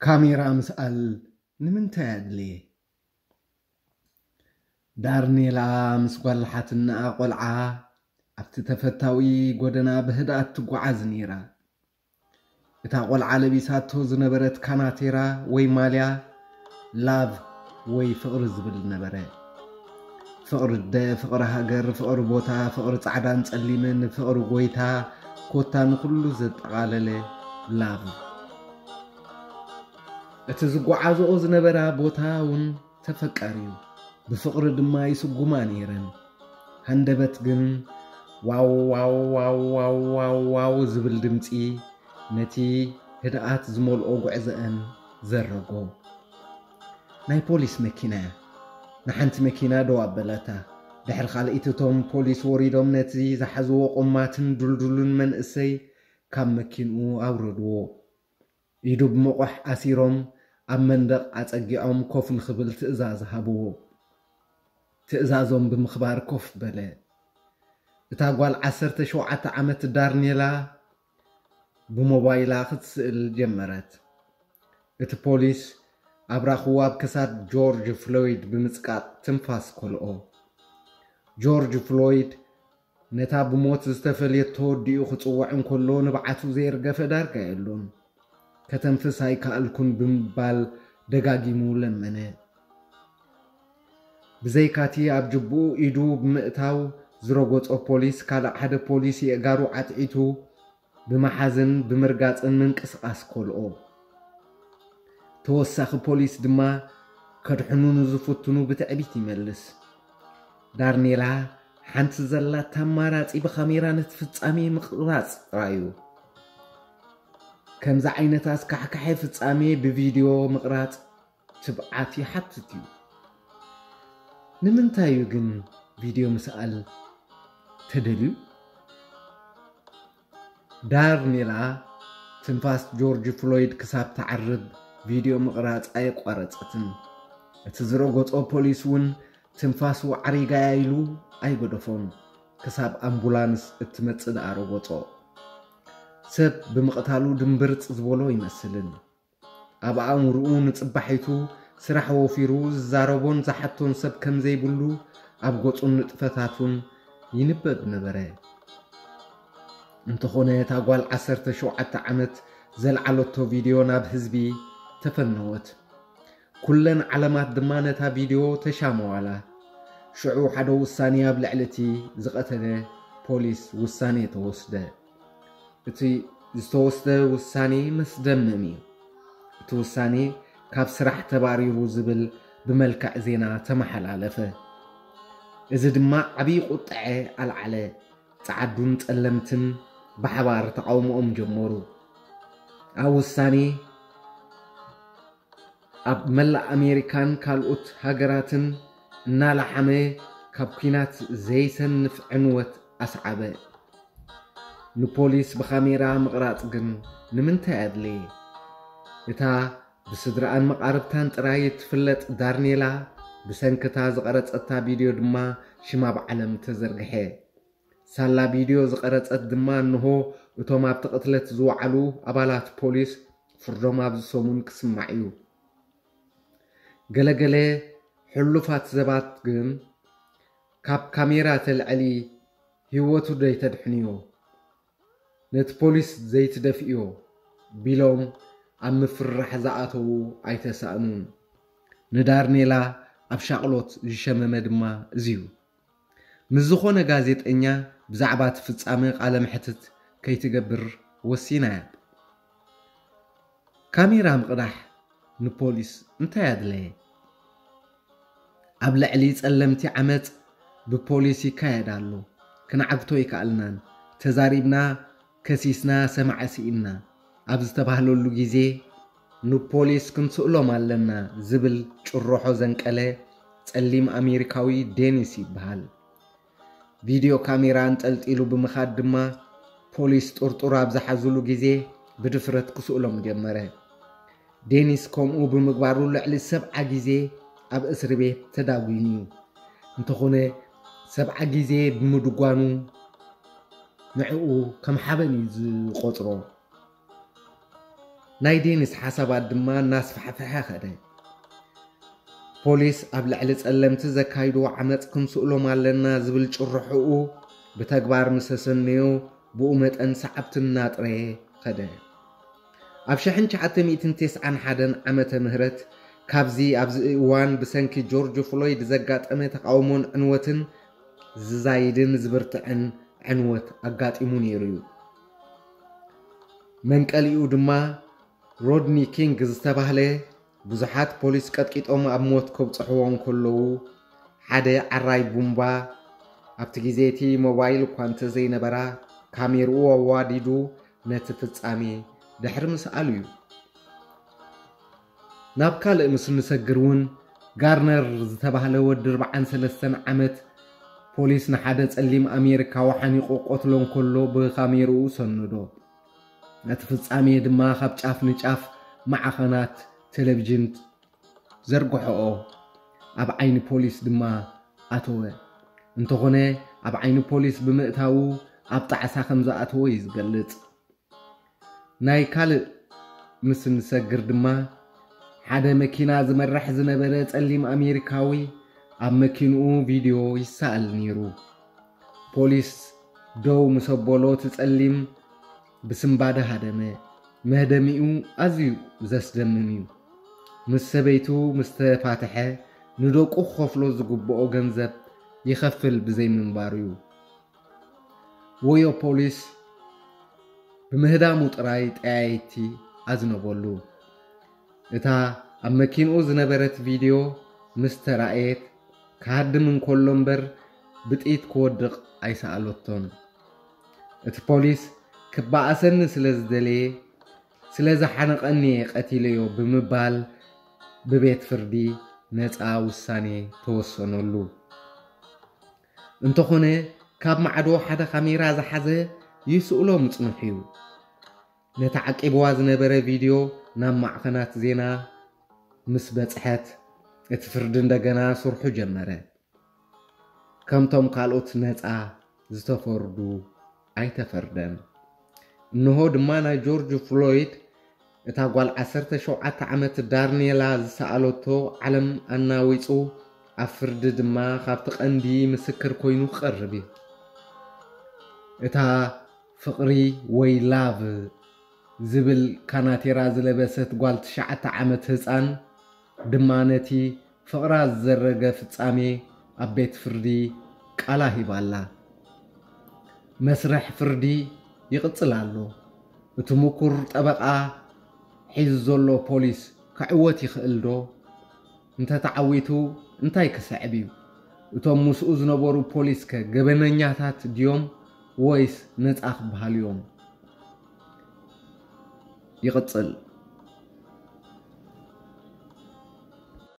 ካሜራ ምስኣል ንምንታይ ኣድለየ? ዳርኔላ ምስ ጓል ሓትነኣ ቆልዓ ኣብቲ ተፈታዊ ጎደና ብህድኣት ትጓዓዝ ነይራ። እታ ቆልዓ ለቢሳቶ ዝነበረት ካናቴራ ወይ ማልያ ላቭ ወይ ፍቕሪ ዝብል ነበረ። ፍቕሪ ኣደ፣ ፍቕሪ ሃገር፣ ፍቕሪ ቦታ፣ ፍቕሪ ጻዕዳን ጸሊምን፣ ፍቕሪ ጎይታ፣ ኮታ ንኹሉ ዘጠቓለለ ላቭ። እቲ ዝጓዓዝኦ ዝነበራ ቦታ እውን ተፈቃሪዩ፣ ብፍቕሪ ድማ ይስጉማ ነይረን። ሃንደበት ግን ዋው ዋው ዋው ዋው ዋው ዋው ዝብል ድምፂ ነቲ ህድኣት ዝመልኦ ጉዕዘአን ዘረጎ። ናይ ፖሊስ መኪና እያ። ንሓንቲ መኪና ደው ኣበለታ። ድሕሪ ካልኣይቲ እቶም ፖሊስ ወሪዶም ነቲ ዝሓዝዎ ቆማትን ዱልዱልን መንእሰይ ካብ መኪንኡ ኣውረድዎ። ኢዱ ብመቑሕ ኣሲሮም ኣብ መንደቕ ኣጸጊዖም ኮፍ ንኽብል ትእዛዝ ሃብዎ። ትእዛዞም ብምኽባር ኮፍ በለ። እታ ጓል ዓሰርተ ሸውዓተ ዓመት ዳርኔላ ብሞባይላ ክትስእል ጀመረት። እቲ ፖሊስ ኣብራኹ ኣብ ክሳድ ጆርጅ ፍሎይድ ብምጽቃጥ ትንፋስ ከልኦ። ጆርጅ ፍሎይድ ነታ ብሞት ዝተፈልየቶ ኣዲኡ ክጽውዕ እንከሎ ንብዓቱ ዘየርገፈ ዳርጋ የሎን። ከተንፍስ ኣይከኣልኩን ብምባል ደጋጊሙ ለመነ። ብዘይካቲ ኣብ ጅብኡ ኢዱ ብምእታው ዝረጎጾ ፖሊስ ካልእ ሓደ ፖሊስ የእጋሩ ዓጥዒቱ ብምሓዝን ብምርጋጽን ምንቅስቓስ ከልኦ። ተወሳኺ ፖሊስ ድማ ከድሕኑ ንዝፍትኑ ብትዕቢት ይመልስ። ዳርኔላ ሓንቲ ዘላታ ኣማራጺ ብካሜራ ነቲ ፍጻሜ ምቕራጽ ጥራዩ። ከምዚ ዓይነት ኣስካሕካሒ ፍጻሜ ብቪድዮ ምቕራጽ ትብዓት ይሓትት እዩ። ንምንታይ እዩ ግን ቪድዮ ምስኣል ተደልዩ? ዳርኔላ ትንፋስ ጆርጅ ፍሎይድ ክሳብ ትዓርብ ቪድዮ ምቕራጽ ኣየቋረጸትን። እቲ ዝረገጾ ፖሊስ እውን ትንፋሱ ዓሪጋያ ኢሉ ኣይገደፎን። ክሳብ ኣምቡላንስ እትመጽእ ደኣ ረገጾ። ሰብ ብምቕታሉ ድምብርጽ ዝበሎ ይመስልን። ኣብ ኣእምርኡ ንጽባሒቱ ስራሕ ወፊሩ ዝዛረቦን ዝሓቶን ሰብ ከም ዘይብሉ ኣብ ገጹን ንጥፈታቱን ይንበብ ነበረ። እንተኾነ እታ ጓል ዓሰርተ ሸውዓተ ዓመት ዘልዓለቶ ቪድዮ ናብ ህዝቢ ተፈነወት። ኩለን ዓለማት ድማ ነታ ቪድዮ ተሻመዋላ። ሽዑ ሓደ ውሳኔ ኣብ ልዕሊ እቲ ዝቐተለ ፖሊስ ውሳኔ ተወስደ። እቲ ዝተወስደ ውሳኔ መስደመም እዩ። እቲ ውሳኔ ካብ ስራሕ ተባሪሩ ዝብል ብመልክዕ ዜና ተመሓላለፈ። እዚ ድማ ዓብዪ ቁጥዐ ኣልዓለ። ጸዓዱን ጸለምትን ብሓባር ተቓውሞኦም ጀመሩ። ኣብ ውሳኔ ኣብ መላእ ኣሜሪካን ካልኦት ሃገራትን እናላሓመ ካብ ኲናት ዘይሰንፍ ዕንወት ኣስዓበ። ንፖሊስ ብኻሜራ ምቕራጽ ግን ንምንታይ ኣድለየ? እታ ብስድራኣን መቓርብታን ጥራይ እትፍለጥ ዳርኔላ ብሰንክታ ዝቐረጸታ ቪድዮ ድማ ሽማ ኣብ ዓለም ተዘርግሐ። ሳላ ቪድዮ ዝቐረጸት ድማ እንሆ እቶም ኣብቲ ቅትለት ዝወዓሉ ኣባላት ፖሊስ ፍርዶም ኣብዚ ሰሙን ክስማዕ እዩ። ገለገለ ሕሉፋት ሰባት ግን ካብ ካሜራ ተልዕሊ ህይወቱ ዘይተድሕንዮ፣ ነቲ ፖሊስ ዘይትደፍእዮ ቢሎም ኣብ ምፍርራሕ ዝኣተዉ ኣይተሳእኑን። ንዳርኔላ ኣብ ሻቕሎት ዝሸመመ ድማ እዚዩ። ምስ ዝኾነ ጋዜጠኛ ብዛዕባ እቲ ፍጻመ ቃለ መሕትት ከይትገብር ወሲና እያ። ካሜራ ምቕዳሕ ንፖሊስ እንታይ ኣድለየ? ኣብ ልዕሊ ጸለምቲ ዓመጽ ብፖሊስ ይካየድ ኣሎ። ክንዓግቶ ኣይከኣልናን። ተዛሪብና፣ ከሲስና፣ ሰማዒ ስኢንና ኣብ ዝተባህለሉ ግዜ፣ ንፖሊስ ክንስእሎም ኣለና ዝብል ጭርሖ ዘንቀለ ጸሊም ኣሜሪካዊ ዴኒስ ይበሃል። ቪድዮ ካሜራ ኣንጠልጢሉ ብምኻድ ድማ፣ ፖሊስ ጥርጡር ኣብ ዝሓዙሉ ግዜ ብድፍረት ክስእሎም ጀመረ። ዴኒስ ከምኡ ብምግባሩ ልዕሊ ሰብዓ ግዜ ኣብ እስሪ ቤት ተዳጒኑ እዩ። እንተኾነ፣ ሰብዓ ግዜ ብምድጓኑ ንዕኡ ከም ሓበን እዩ ዝቖጽሮ። ናይ ዴኒስ ሓሳባት ድማ እናስፋሕፈሐ ኸደ። ፖሊስ ኣብ ልዕሊ ጸለምቲ ዘካይድዎ ዓመጽ ክንስእሎም ኣለና ዝብል ጭርሖኡ ብተግባር ምስ ኣሰነዮ፣ ብኡ መጠን ሰዓብቲ እናጥረየ ኸደ። ኣብ ሽሕን ትሽዓተ ሚእትን ተስዓን ሓደን ዓመተ ምህረት፣ ካብዚ ኣብዚ እዋን ብሰንኪ ጆርጅ ፍሎይድ ዘጋጠመ ተቓውሞን ዕንወትን ዝዛይድን ዝብርትዕን ዕንወት ኣጋጢሙ ነይሩ እዩ። መንቀሊኡ ድማ ሮድኒ ኪንግ ዝተባህለ፣ ብዙሓት ፖሊስ ቀጥቂጦም ኣብ ሞት ከብጽሕዎ እንከለዉ፣ ሓደ ዓራይ ቡምባ፣ ኣብቲ ግዜ እቲ ሞባይል እኳ እንተዘይነበራ፣ ካሜርኡ ኣዋዲዱ ነቲ ፍጻሜ ድሕሪ ምስኣሉ እዩ። ናብ ካልእ ምስ እንሰግር እውን፣ ጋርነር ዝተባህለ ወዲ ኣርባዓን ሰለስተን ዓመት፣ ፖሊስ ንሓደ ጸሊም ኣሜሪካዊ ሓኒቑ ቆትሎ እንከሎ ብካሜርኡ ሰነዶ። ነቲ ፍጻሜ ድማ ካብ ጫፍ ንጫፍ ማዕኸናት ቴሌቪዥን ዘርግሖኦ፣ ኣብ ዓይኒ ፖሊስ ድማ ኣተወ። እንተኾነ፣ ኣብ ዓይኒ ፖሊስ ብምእታዉ ኣብ ጣዕሳ ከም ዝኣተወ እዩ ዝገልጽ። ናይ ካልእ ምስ እንሰግር ድማ፣ ሓደ መኪና ዝመርሕ ዝነበረ ጸሊም ኣሜሪካዊ ኣብ መኪንኡ ቪድዮ ይሰኣል ነይሩ። ፖሊስ ደው ምስ ኣበሎ፣ እቲ ጸሊም ብስንባደ ሃደመ። መህደሚኡ ኣዝዩ ዘስደምም እዩ። ምስ ሰበይቱ ምስ ተፋትሐ፣ ንደቁ ክኸፍሎ ዝግብኦ ገንዘብ ይኸፍል ብዘይምንባሩ እዩ። ወዮ ፖሊስ ብምህዳሙ ጥራይ ጠያይቲ ኣዝነበሉ። እታ ኣብ መኪንኡ ዝነበረት ቪድዮ ምስ ተራእየት፣ ክሃድም እንከሎ እምበር ብጥይት ክወድቕ ኣይሰኣለቶን። እቲ ፖሊስ ክበኣሰኒ ስለ ዝደለየ፣ ስለ ዝሓነቐኒ እየ ቀቲለዮ ብምባል ብቤት ፍርዲ ነጻ ውሳኔ ተወሰነሉ። እንተኾነ፣ ካብ ማዕዶ ሓደ ካሜራ ዝሓዘ ይስእሎ ምጽንሑ እዩ። ነታ ዓቂብዋ ዝነበረ ቪድዮ ናብ ማዕኸናት ዜና ምስ በጽሐት፣ እቲ ፍርዲ እንደገና ስርሑ ጀመረ። ከምቶም ካልኦት ነጻ ዝተፈርዱ ኣይተፈርደን። እንሆ ድማ ናይ ጆርጅ ፍሎይድ፣ እታ ጓል ዓሰርተ ሸውዓተ ዓመት ዳርኔላ ዝሰኣለቶ ዓለም ኣናዊጹ፣ ኣብ ፍርዲ ድማ ካብቲ ቀንዲ ምስክር ኮይኑ ክቐርብ እዩ። እታ ፍቕሪ ወይ ላቭ ዝብል ካናቴራ ዝለበሰት ጓል ትሽዓተ ዓመት ህጻን ድማ ነቲ ፍቕራ ዝዘረገ ፍጻሜ ኣብ ቤት ፍርዲ ቃላ ሂባላ። መስርሕ ፍርዲ ይቕጽል ኣሎ። እቲ ምኩር ጠበቓ ሒዙ ዘሎ ፖሊስ ክዕወት ይኽእል ዶ? እንተተዓዊቱ እንታይ ክስዕብ እዩ? እቶም ምስኡ ዝነበሩ ፖሊስከ ገበነኛታት ድዮም ወይስ ነጻ ክበሃሉ እዮም? ይቕጽል።